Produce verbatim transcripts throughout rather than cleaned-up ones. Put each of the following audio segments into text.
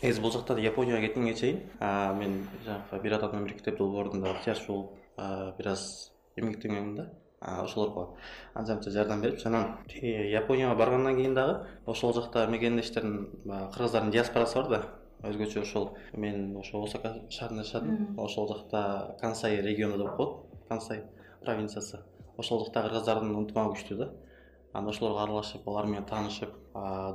негизи бул жакта Японияга кеткенге чейин мен жанагы бир адам бир китеп долбоорунда ыктыярчы болуп бир аз эмгектенгенмин да. Ошолорго анча мынча жардам берип, анан Японияга баргандан кийин дагы ошол жакта мекендештердин кыргыздардын диаспорасы бар да. Өзгөчө ошол мен ошо Осака шаарында жашадым. Ошол жакта Кансай региону деп коет. Кансай провинциясы. Ошол жакта кыргыздардын ынтымагы күчтүү да. Анан ошолорго аралашып, алар менен таанышып,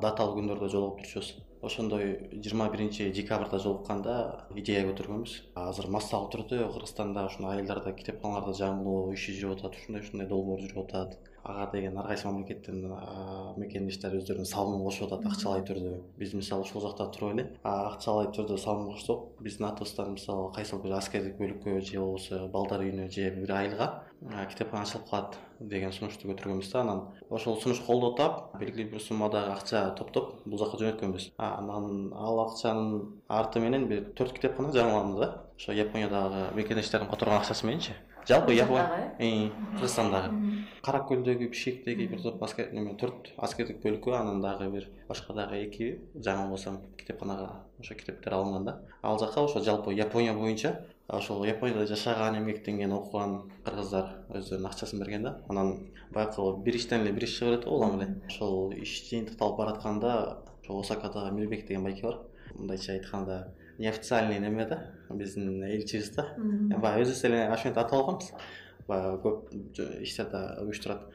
даталуу күндөрдө жолугуп турчубуз. Ошондой жыйырма биринчи декабрда жолукканда идея көтөргөнбүз. Азыр массалуу түрдө Кыргызстанда ушундай айылдарда китепканаларда жаңылоо иши жүрүп атат, ушундай ушундай долбоор жүрүп атат. Ага деген ар кайсы мамлекеттин мекендештери өздөрүнүн салымын кошуп атат акчалай түрдө. Биз мисалы ушул жакта туруп эле акчалай түрдө салым кошсок, биздин атыбыздан мисалы кайсыл бир аскердик бөлүккө же болбосо балдар үйүнө же бир айылга китепкана ачылып калат деген сунушту көтөргөнбүз да. Анан ошол сунуш колдоо таап, белгилүү бир суммада акча топтоп бул жака жөнөткөнбүз. Анан ал акчанын арты менен бир төрт китепкана жаңыланды да. Ошо Япониядагы мекендештердин которгон акчасы мененчи. Жалпы Япония, Кыргызстандагы Кара көлдөгү Бишкектеги бир топ аскер неме төрт аскердик бөлүккө, анан дагы бир башка дагы эки жаңылбасам китепканага ошо китептер алынган да. Ал жака ошо жалпы Япония боюнча ошол Японияда жашаган, эмгектенген, окуган кыргыздар өздөрүнүн акчасын берген да. Анан байкы бир иштен эле бир иш чыга берет го улам эле. Ошол иш жыйынтыкталып баратканда ошо Осакадагы Мирбек деген байке бар. Мындайча айтканда неофициальный неме да, биздин элчибиз да. Баягы өзүбүз эле ошентип атап алганбыз. Баягы көп иштерди уюштурат.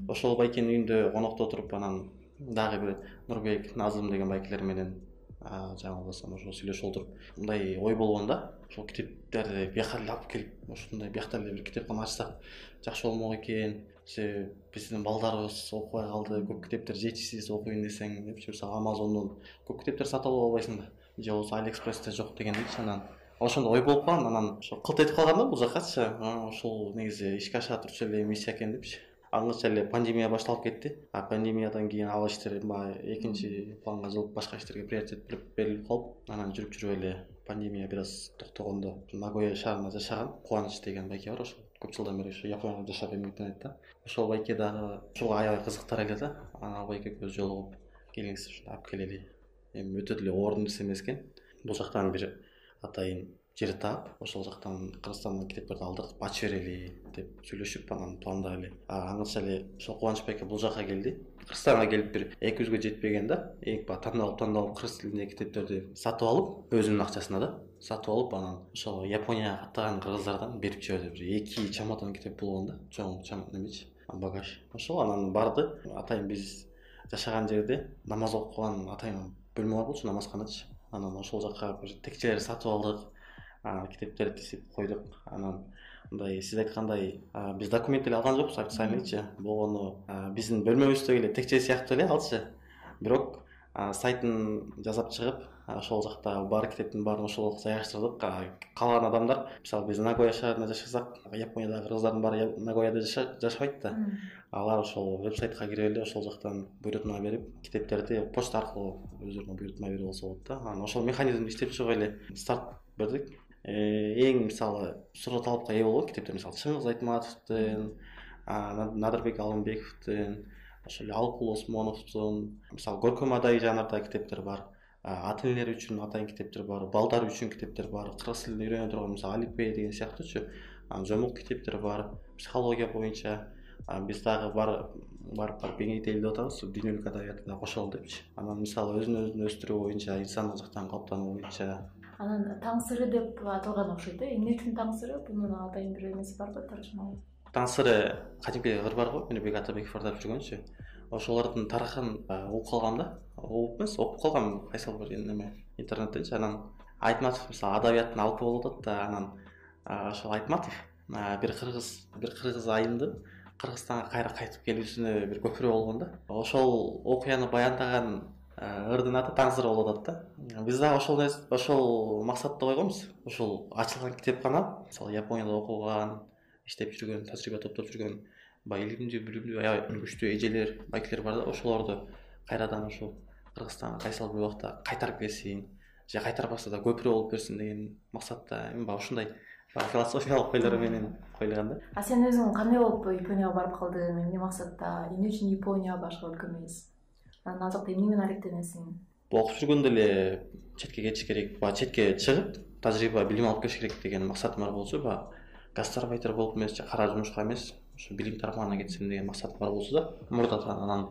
Ошол байкенин үйүндө конокто туруп, анан дагы бир Нурбек, Назым деген байкелер менен жаңылбасам ошо сүйлөшүп отуруп, мындай ой болгон да. Ошол китептерди бияка эле алып келип, ошондой биякта эле бир китепкана ачсак жакшы болмок экен. Же биздин балдарыбыз окубай калды, көп китептер жетишсиз окуйм десең, депчи мисалы Amazon'дон көп китептер сатып алып албайсың да. Же болбосо AliExpress'те жок дегендейчи. Анан ошондой ой болуп калган, анан ошо кылт этип калган да бул жакачы. Ошол негизи ишке аша турчу эле миссия экен депчи. Аңгыча эле пандемия башталып кетти. А пандемиядан кийин ал иштер баягы экинчи планга жылып, башка иштерге приоритет берилип калып, анан жүрүп жүрүп эле пандемия бир аз токтогондо Нагоя шаарында жашаган Кубаныч деген байке бар, ошо көп жылдан бери ошо Японияда жашап эмгектенет да. Ошол байке дагы ушуга аябай кызыктар эле да. Анан ал байкеге жолугуп, келиңиз ушундай алып келели. Эми өтө деле оор нерсе эмес экен. Бул жактан бир атайын жер таап, ошол жактан Кыргызстандан китептерди алдырып, ачып берели деп сүйлөшүп, анан пландап эле. Аңгыча эле ошол Кубаныч байке бул жака келди. Кыргызстанга келип бир эки жүзгө жетпеген да. Эң ба тандалып тандалып кыргыз тилиндеги китептерди сатып алып, өзүнүн акчасына да сатып алып, анан ошол Японияга каттаган кыргыздардан берип жиберди. Бир эки чемодан китеп болгон да. Чоң чемодан эмечи, багаж. Ошол анан барды. Атайын биз жашаган жерде намаз окуган атайын бөлмө бар болчу, намазканачы. Анан ошол жака бир текчелерди сатып алдык. Китептерди тизип койдук. Анан мындай сиз айткандай биз документ эле алган жокпуз, официальныйчы. Болгону биздин бөлмөбүздөгү эле текче сыяктуу эле алчы. Бирок сайтын жасап чыгып, ошол жакта бар китептин баарын ошол жайгаштырдык. Калган адамдар, мисалы биз Нагоя шаарында жашасак, Япониядагы кыргыздардын баары Нагояда жашабайт да. Алар ошол вебсайтка кирип эле ошол жактан буйрутма берип, китептерди почта аркылуу өздөрүнө буйрутма берип алса болот да. Анан ошол механизмди иштеп чыгып эле старт бердик. Эң мисалы суроо талапка ээ болгон китептер, мисалы Чыңгыз Айтматовдун, Надырбек Алымбековдун, ошол эле Алкул Осмоновдун, мисалы Көркөм Адай жанрдагы китептер бар. Ата энелер үчүн атайын китептер бар, балдар үчүн китептер бар, кыргыз тилин үйрөнө турган мисалы Алипей деген сыяктуучу жомок китептер бар, психология боюнча. Биз дагы бар барып барып кеңейтели деп атабыз, дүйнөлүк адабиятты да кошолу депчи. Анан мисалы өзүн өзүн өстүрүү боюнча, инсандык жактан калыптануу боюнча. Анан таң сыры деп аталган окшойт да. Эмне үчүн таң сыры? Бунун атайын бир эмеси барбы, тарышмабы? Таң сыры кадимки ыр бар го, Мирбек Атабеков ырдап жүргөнчү. Ошолордун тарыхын угуп калгам да. Угуп эмес, окуп калгам кайсыл бир неме интернеттенчи. Анан Айтматов мисалы адабияттын алыпы болуп атат да. Анан ошол Айтматов бир кыргыз бир кыргыз айымдын Кыргызстанга кайра кайтып келүүсүнө бир көпүрө болгон да. Ошол окуяны баяндаган ырдын аты Таң сыры болуп атат да. Биз дагы ошол ошол максатты койгонбуз. Ошол ачылган китепкана, мисалы Японияда окуган, иштеп жүргөн, тажрыйба топтоп жүргөн баягы илимдүү, билимдүү, аябай күчтүү эжелер, байкелер бар да. Ошолорду кайрадан ошол Кыргызстанга кайсыл бир убакта кайтарып келсин, же кайтарбаса да көпүрө болуп берсин деген максатта эми баягы ушундай философиялык ойлор менен коюлган да. А сен өзүң кандай болуп Японияга барып калдың, эмне максатта, эмне үчүн Япония башка өлкө эмес? Анан ал жакта эмне менен алектенесиң? Окуп жүргөндө эле четке кетиш керек, баягы четке чыгып тажрыйба билим алып келиш керек деген максатым бар болчу, баягы гастарбайтер болуп эмес же кара жумушка эмес, ушу билим тармагына кетсем деген максатым бар болчу да. Мурда анан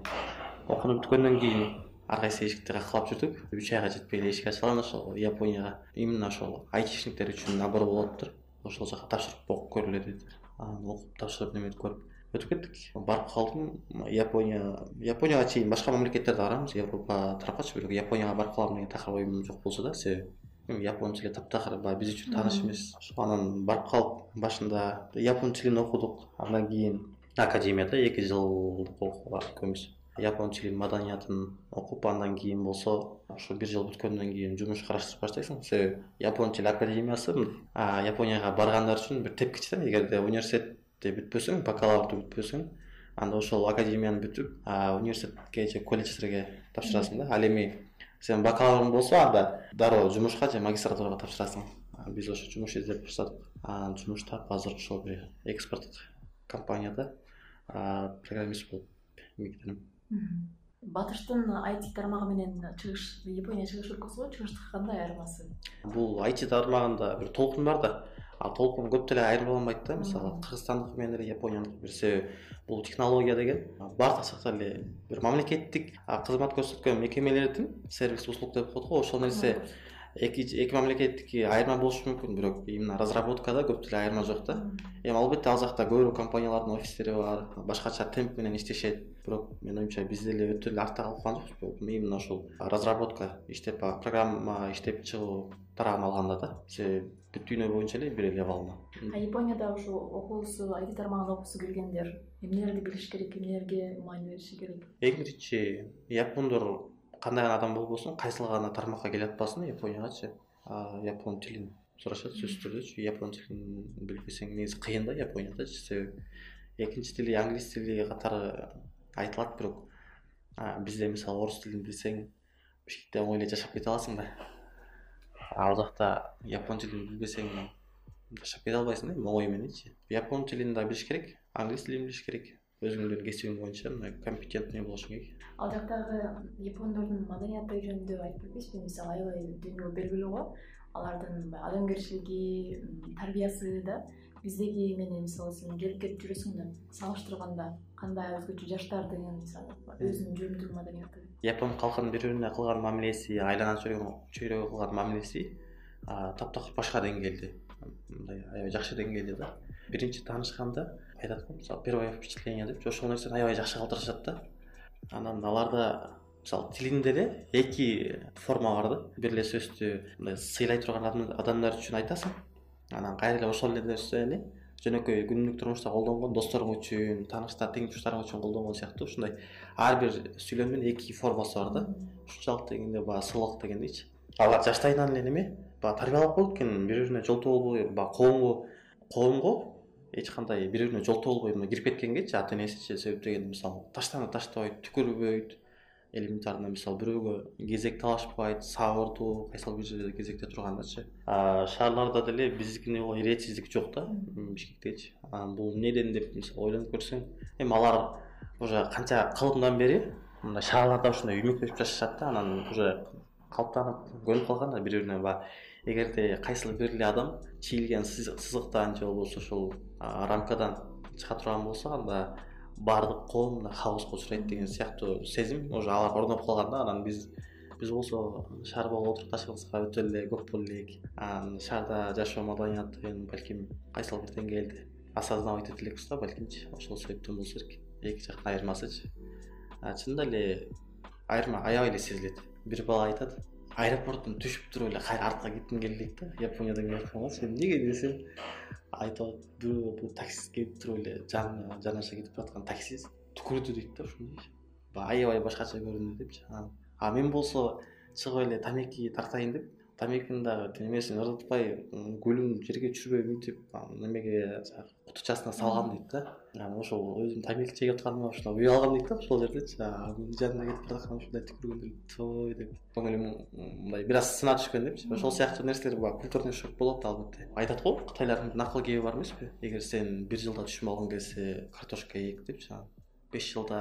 окунуп бүткөндөн кийин ар кайсы эшикти каккылап жүрдүк. үч айга жетпей эле эшик ачылган ошол Японияга. Именно ошол айтишниктер үчүн набор болуптур. Ошол жака тапшырып окуп көргүлө деди. Анан окуп тапшырып неметип көрүп өтүп кеттик. Барып калдым. Япония, Японияга чейин башка мамлекеттерде барамыз, Европа тарапкачы, бирок Японияга барып калам деген такыр оюм жок болчу да, себеби япон тили таптакыр баягы биз үчүн тааныш эмес. Анан барып калып башында япон тилин окудук. Андан кийин академияда эки жылдык окууга экөөбүз япон тилин, маданиятын окуп, андан кийин болсо ошо бир жыл бүткөндөн кийин жумуш караштырып баштайсың. Себеби япон тили академиясы Японияга баргандар үчүн бир тепкич да. Эгерде университетти бүтпөсөң, бакалаврды бүтпөсөң, анда ошол академияны бүтүп, университетке же колледждерге тапшырасың да. Ал эми сен бакалаврың болсо, анда дароо жумушка же магистратурага тапшырасың. Биз ошо жумуш издеп баштадык. Анан жумуш таап, азыр ошол бир экспорттук компанияда программист болуп эмгектенем. Батыштын ай ти тармагы менен чыгыш, Япония чыгыш өлкөсү чыгыштыкы кандай айырмасы? Бул ай ти тармагында бир толкун бар да. А толкун көп деле айырмаланбайт да. Мисалы Кыргызстандыкы менен эле Японияныкы бир себеби бул технология деген баардык жакта эле бир мамлекеттик кызмат көрсөткөн мекемелердин сервис услуг деп коет го, ошол нерсе эки эки мамлекеттики айырма болушу мүмкүн, бирок именно разработкада көп деле айырма жок да. Эми албетте ал жакта көбүрөөк компаниялардын офистери бар, башкача темп менен иштешет. Бирок мен оюмча биз деле өтө эле артта калып калган жокпуз. Именно ошол разработка иштеп, программа иштеп чыгуу тарабын алганда да. Себеби бүт дүйнө боюнча эле бир эле абалына. А Японияда ошо окуусу, ай ти тармагында окуусу келгендер эмнелерди билиш керек, эмнелерге маани бериши керек? Эң биринчи япондор кандай гана адам болбосун, кайсыл гана тармакка келе атпасын, Япониягачы япон тилин сурашат сөзсүз түрдүчү. Япон тилин билбесең негизи кыйын да Япониядачы, себеби экинчи тили англис тили катары айтылат, бирок бизде мисалы орус тилин билсең Бишкекте оңой эле жашап кете аласың да. Ал жакта япон тилин билбесең жашап кете албайсың да, оңой мененчи. Япон тилин да билиш керек, англис тилин билиш керек. Өзүңдүн кесибиң боюнча компетентный болушуң керек. Ал жактагы япондордун маданияты жөнүндө айтып бербейсизби? Мисалы аябай дүйнөгө белгилүү го. Алардын адамгерчилиги, тарбиясы да биздеги менен мисалы сен келип кетип жүрөсүң да, салыштырганда кандай өзгөчө жаштардын мисалы өзүнүн жүрүм-турум маданияты? Япон калкынын бири-бирине кылган мамилеси, айлана чөйрөгө кылган мамилеси таптакыр башка деңгээлде, мындай аябай жакшы деңгээлде да. Биринчи таанышканда айтат го, мисалы первое впечатление деп, ошол нерсени аябай жакшы калтырышат да. Анан аларда мисалы тилинде эле эки форма бар да. Бир эле сөздү мындай сыйлай турган адамдар үчүн айтасың. Анан кайра эле ошол эле нерсени жөнөкөй күнүмдүк турмушта колдонгон досторуң үчүн, тааныштар, тең туштарың үчүн колдонгон сыяктуу ушундай ар бир сүйлөмдүн эки формасы бар да. Ушунчалык дегенде баягы сыйлык дегендейчи. Алар жаштайынан эле неме, баягы тарбиялап коет экен, бири-бирине жолтоо болбой, баягы коомго, коомго эч кандай бири-бирине жолтоо болбой мына кирип кеткенгечи ата энесичи себеп дегенде мисалы таштаны таштабайт, түкүрбөйт. Элементарно мисалы бирөөгө кезек талашпайт, сабырдуу, кайсыл бир жерде кезекте тургандачы. Шаарларда деле биздикине ол иретсиздик жок да, Бишкектечи. Бул эмнеден деп мисалы ойлонуп көрсөң, эми алар уже канча кылымдан бери мындай шаарларда ушундай үймөктөшүп жашашат да, анан уже калыптанып, көнүп калган да бири-бирине. Баягы эгерде кайсыл бир эле адам чийилген сызыктан же болбосо ошол рамкадан чыга турган болсо, анда баардык коом хаоска учурайт деген сыяктуу сезим уже алар орноп калган да. Анан биз биз болсо шаар болуп отурукташыбызга өтө эле көп болуп элек. Анан шаарда жашоо маданиятын балким кайсыл бир деңгээлде осознавать эте элекпиз да, балкимчи. Ошол себептен болсо керек. Эки жактын айырмасычы. Чынында эле айырма аябай эле сезилет. Бир бала айтат, аэропорттон түшүп туруп эле кайра артка кетким келди да. Япониядан келип атканга сен эмнеге десем, айтат, бирөө бул таксист келип туруп эле жана жанаша кетип бараткан таксист түкүрдү дейт да, ушундайчы. Аябай башкача көрүндү депчи. А мен болсо чыгып эле тамеки тартайын деп, тамекинин дагы немесин ырдытпай, гүлүн жерге түшүрбөй мынтип немеге кутучасына салгам дейт да. Анан ошол өзүм тамеки чегип атканыма ушундай уялгам дейт да, ошол жердечи. Менин жанына кетип бараткан ушундай түкүргөндө той деп көңүлүм мындай бир аз сына түшкөн депчи. Ошол сыяктуу нерселер бар, культурный шок болот албетте. Айтат го, кытайлардын накыл кеби бар эмеспи? Эгер сен бир жылда түшүм алгың келсе, картошка эк депчи. беш жылда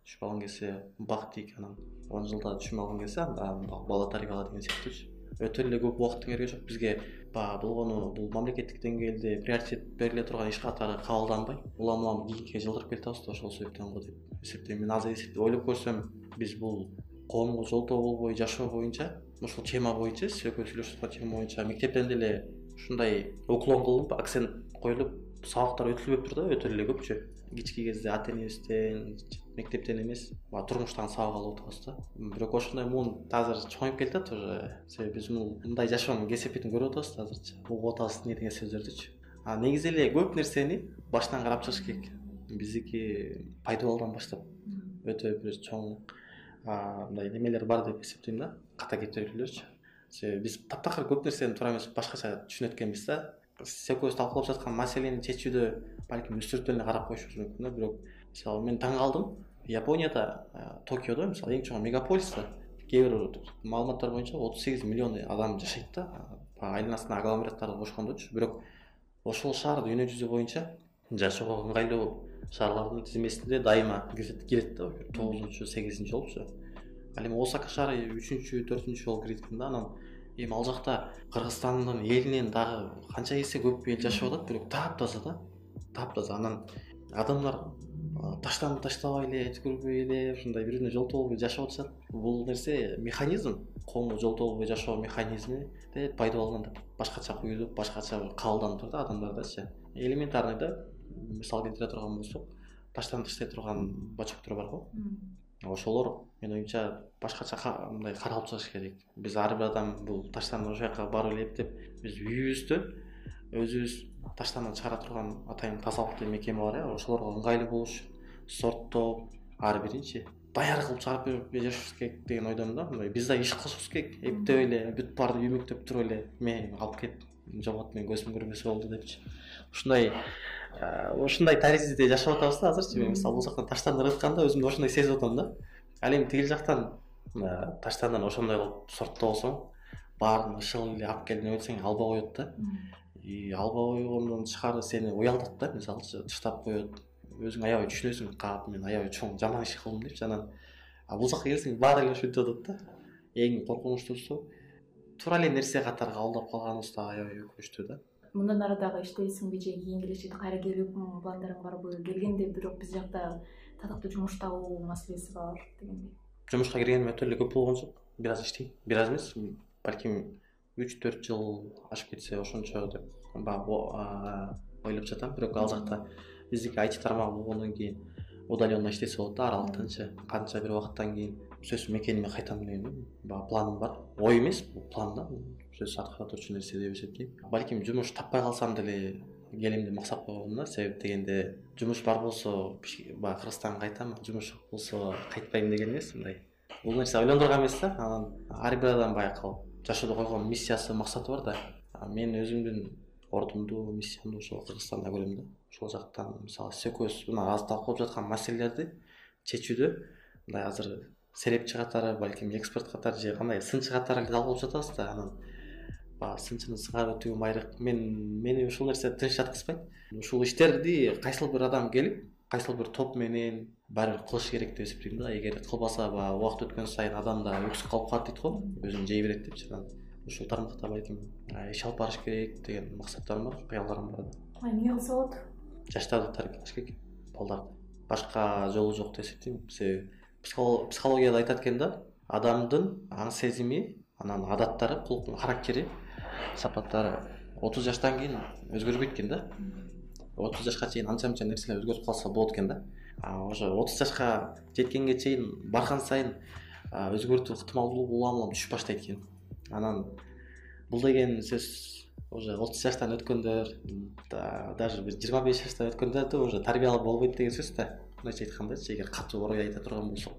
түшүм алгың келсе, бак тик, анан он жылда түшүм алгың келсе, анда бала тарбияла деген сыяктуучу. өтө эле көп убакыттын кереги жок бизге. Баягы болгону бул мамлекеттик деңгээлде приоритет бериле турган иш катары кабылданбай, улам улам кийинкиге жылдырып келатабыз да, ошол себептен го деп эсептейм. Мен азыр эсептеп ойлоп көрсөм, биз бул коомго жолтоо болбой жашоо боюнча, ушул тема боюнча, сиз экөөбүз сүйлөшүп аткан тема боюнча мектептен деле ушундай уклон кылынып, акцент коюлуп, сабактар өтүлбөптүр да, өтө эле көпчү. Кички кезде ата энебизден, мектептен эмес, турмуштан сабак алып атабыз да. Бирок ошондой муун азыр чоңоюп келатат уже. Себеби биз мындай жашоонун кесепетин көрүп атабыз азырчы. Угуп атабыз эмне деген сөздөрдүчү. А негизи эле көп нерсени башынан карап чыгыш керек. Биздики пайдабалдан баштап өтө бир чоң мындай немелер бар деп эсептейм да, ката кетирүүлөрчү. Себеби биз таптакыр көп нерсени туура эмес башкача түшүнөт экенбиз да. Сиз экөөбүз талкуулап жаткан маселени чечүүдө балким үстүртөн эле карап коюшубуз мүмкүн да. Бирок мисалы мен таң калдым, Японияда, Токиодо мисалы эң чоң мегаполиста кээ бир маалыматтар боюнча отуз сегиз миллион адам жашайт да, айланасына агломераттарды кошкондочу. Бирок ошол шаар дүйнө жүзү боюнча жашоого ыңгайлуу шаарлардын тизмесинде дайыма кирет да, тогузунчу сегизинчи болупчу. Ал эми Осака шаары үчүнчү төртүнчү болуп кирет экен да. Анан эми ал жакта Кыргызстандын элинен дагы канча эсе көп эл жашап атат, бирок таптаза да, таптаза. Анан адамдар таштан таштабай эле, түкүрбөй эле, ушундай бири-бирине жолтоо болбой жашап атышат. Бул нерсе механизм, коомго жолтоо болбой жашоо механизми де пайдаланып, башкача куюлуп, башкача кабылданып турду адамдардачы. Элементарный да, мисал келтире турган болсок, таштан таштай турган бачоктор бар го. Ошолор менин оюмча башкача мындай каралып чыгыш керек. Биз ар бир адам бул таштан ошол жака барып элеп деп, биз үйүбүздө өзүбүз таштан чыгара турган атайын тазалыктуу мекеме бар э, ошолорго ыңгайлуу болуш, сорттоп, ар биринчи даяр кылып чыгарып берип жашашыбыз керек деген ойдомун да. Мындай биз да иш кылышыбыз керек. Эптеп эле бүт баарды үймөктөп туруп эле мен алып кет, жогот, мен көзүм көрбөсө болду депчи. Ушундай ушундай таризде жашап атабыз да азырчы. Мен мисалы бул жактан таштан ырытканда өзүмдү ошондой сезип атам да. Ал эми тигил жактан таштандан ошондой кылып сорттобосоң, баарын ышыл эле алып келип өтсөң алба коет да. И алба койгондон тышкары сени уялтат да, мисалычы таштап коет. Өзүң аябай түшүнөсүң, кап мен аябай чоң жаман иш кылдым депчи. Анан бул жакка келсең баары эле ушинтип атат да. Эң коркунучтуусу туура эле нерсе катары кабылдап калганыбыз да аябай өкүнүчтүү да. Мындан ары дагы иштейсиңби же кийин келечекте кайра келип пландарың барбы? Келгенде бирок биз жакта татыктуу жумуш табуу маселеси бар дегендей. Жумушка киргеним өтө эле көп болгон жок. Бир аз иштейм. Бир аз эмес, балким үч төрт жыл ашып кетсе ошончо деп баягы ойлоп жатам. Бирок ал жакта биздики ай ти тармагы болгондон кийин удаленно иштесе болот да, аралыктанчы. Канча бир убакыттан кийин сөзсүз мекениме кайтам деген баягы планым бар. Ой эмес, бул план да. Сөзсүз аткарылчу нерсе деп эсептейм. Балким жумуш таппай калсам деле келем деп максат койгом да. Себеп дегенде жумуш бар болсо баягы Кыргызстанга кайтам, жумуш жок болсо кайтпайм деген эмес, мындай. Бул нерсе ойлондурган эмес да. Анан ар бир адам баягы жашоодо койгон миссиясы, максаты бар да. Мен өзүмдүн ордумду, миссиямду ошол Кыргызстанда көрөм да. Ошол жактан мисалы экөөбүз мына азыр талкуулап жаткан маселелерди чечүүдө мындай азыр серепчи катары, балким эксперт катары же кандай сынчы катары эле талкуулап жатабыз да. Анан баягы сынчыны сыңарып өтүү майрык. Мен мени ушул нерсе тынч жаткызбайт. Ушул иштерди кайсыл бир адам келип, кайсыл бир топ менен баары бир кылыш керек деп эсептейм да. Эгер кылбаса баягы убакыт өткөн сайын адам да өксүп калып калат дейт го, өзүн жей берет депчи. Анан ушул тармакта балким иш алып барыш керек деген максаттарым бар, кыялдарым бар да. Эмне кылса болот? Жаштарды тарбиялаш керек, балдарды. Башка жолу жок деп эсептейм. Себеби психологияда айтат экен да, адамдын аң сезими, анан адаттары, кулуктун характери, сапаттары отуз жаштан кийин өзгөрбөйт экен да. отуз жашка чейин анча-мынча нерселер өзгөрүп калса болот экен да. Ошо отуз жашка жеткенге чейин барган сайын өзгөртүү ыктымалдуулугу улам улам түшүп баштайт экен. Анан бул деген сөз уже отуз жаштан өткөндөр, даже бир жыйырма беш жаштан өткөндөрдө уже тарбиялуу болбойт деген сөз да. Мындайча айткандачы, эгер катуу орой айта турган болсок.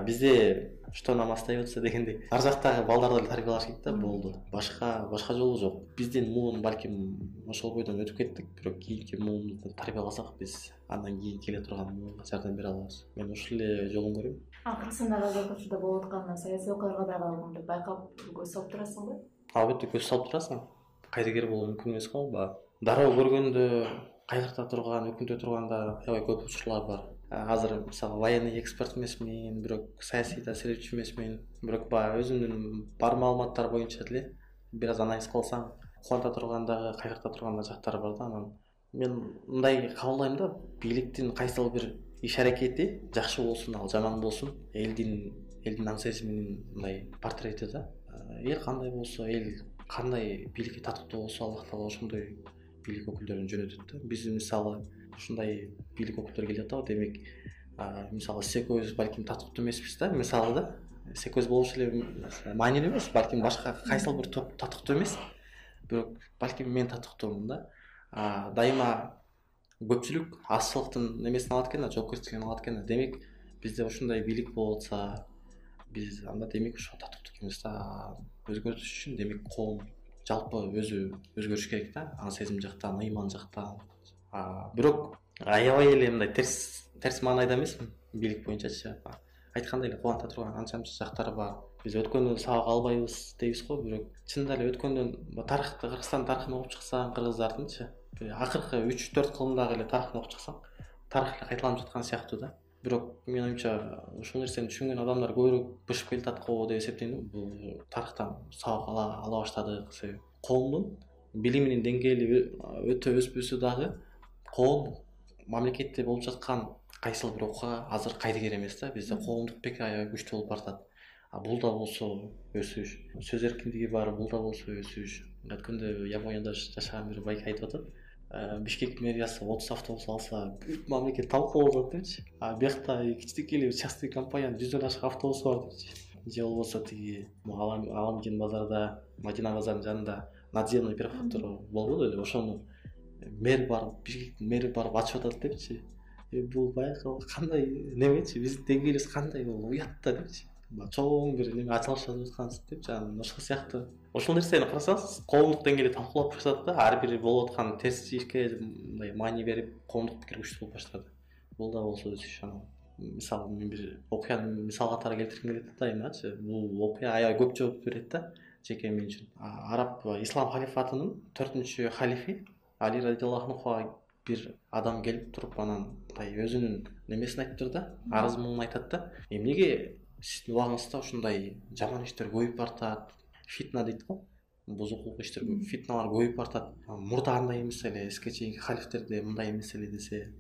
Бизде что нам остается дегендей ар жактагы балдарды эле тарбиялаш керек да, болду. Башка башка жолу жок. Биздин муун балким ошол бойдон өтүп кеттик, бирок кийинки муунду тарбияласак биз андан кийин келе турган муунга жардам бере алабыз. Мен ушул эле жолун көрөм. Кыргызстандагы азыр ошондо болуп аткан саясий окуяларга дагы байкап көз салып турасыңбы? Албетте көз салып турасың. Кайдыгер болуу мүмкүн эмес го. Дароо көргөндө кайгырта турган, өкүнтө турган да аябай көп учурлар бар. азыр мисалы военный эксперт эмесмин, бирок саясий таасирчи эмесмин, бирок баягы өзүмдүн бар маалыматтар боюнча деле бир аз анализ кылсаң кубанта турган дагы кайгырта турган да жактары бар да. Анан мен мындай кабылдайм да, бийликтин кайсыл бир иш аракети жакшы болсун, ал жаман болсун, элдин элдин аң сезиминин мындай портрети да. Эл кандай болсо, эл кандай бийликке татыктуу болсо, Аллах Таала ошондой бийлик өкүлдөрүн жөнөтөт да. Биз мисалы ушундай бийлик өкүлдөрү келип атабы, демек мисалы сиз экөөбүз балким татыктуу эмеспиз да, мисалы да. Сиз экөөбүз болуш эле маанилүү эмес, балким башка кайсыл бир топ татыктуу эмес, бирок балким мен татыктуумун да. Дайыма көпчүлүк азчылыктын немесин алат экен да, жоопкерчилигин алат экен да. Демек бизде ушундай бийлик болуп атса, биз анда демек ошо татыктуу экенбиз да. Өзгөртүш үчүн демек коом жалпы өзү өзгөрүш керек да, аң сезим жактан, ыйман жактан. Бирок аябай эле мындай терс терс маанайда эмесмин бийлик боюнчачы. Айткандай эле кубанта турган анча мынча жактары бар. Биз өткөндөн сабак албайбыз дейбиз го, бирок чынында эле өткөндөн тарыхты, Кыргызстан тарыхын окуп чыксаң, кыргыздардынчы акыркы үч төрт кылымдагы эле тарыхын окуп чыксаң, тарых эле кайталанып жаткан сыяктуу да. Бирок менин оюмча ушул нерсени түшүнгөн адамдар көбүрөөк бышып келатат го деп эсептейм. Бул тарыхтан сабак ала ала баштадык. Себеби коомдун билиминин деңгээли өтө өспөсө дагы коом мамлекетте болуп жаткан кайсыл бир окуга азыр кайдыгер эмес да. Бизде коомдук пикир аябай күчтүү болуп баратат. Бул да болсо өсүш, сөз эркиндиги бар, бул да болсо өсүш. Өткөндө Японияда жашаган бир байке айтып атат. Бишкек мэриясы отуз автобус алса, бүт мамлекет талкуулап атат депчи. А биякта кичинекей эле частный компаниянын жүздөн ашык автобусу бар депчи. Же болбосо тиги Аламжин базарда, Мадина базарынын жанында надземный префектура болбоду эле, ошону мэр барып, Бишкектин мэри барып ачып атат депчи. Бул баягы кандай немечи, биздин деңгээлибиз кандай, бул уят да депчи. Чоң бир неме ачылышып жаткан депчи. Анан ошол сыяктуу ошол нерсени карасаңыз, коомдук деңгээлде талкуулап жатат да, ар бири болуп аткан терс ишке мындай маани берип, коомдук пикир күчтүү болуп баштады. Бул да болсо өсүш. Анан мисалы мен бир окуяны мисал катары келтиргим келет да дайымачы. Бул окуя аябай көп жооп берет да жеке мен үчүн. Араб ислам халифатынын төртүнчү халифи Али радиаллаху анхуга бир адам келип туруп, анан мындай өзүнүн немесин айтыптыр да, арыз муңун айтат да. Эмнеге сиздин убагыңызда ушундай жаман иштер көбөйүп баратат, фитна дейт го, бузукулук иштер, фитналар көбөйүп баратат. Мурда андай эмес эле, эске чейинки халифтерде мындай эмес эле десе,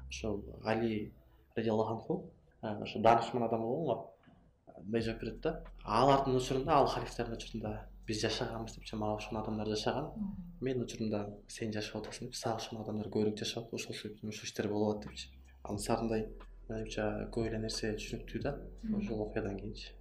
ошол Али радиаллаху анху ошо даанышман адам болгон го, мындай жооп берет да. Алардын учурунда, ал халифтердин учурунда биз жашаганбыз депчи, мага ошол адамдар жашаган. Мен учурунда сен жашап атасың деп, сага ошол адамдар көбүрөөк жашап, ошол себептен ушул иштер болуп атат депчи. Ансарындай менимче көп эле нерсе түшүнүктүү да ошол окуядан кийинчи.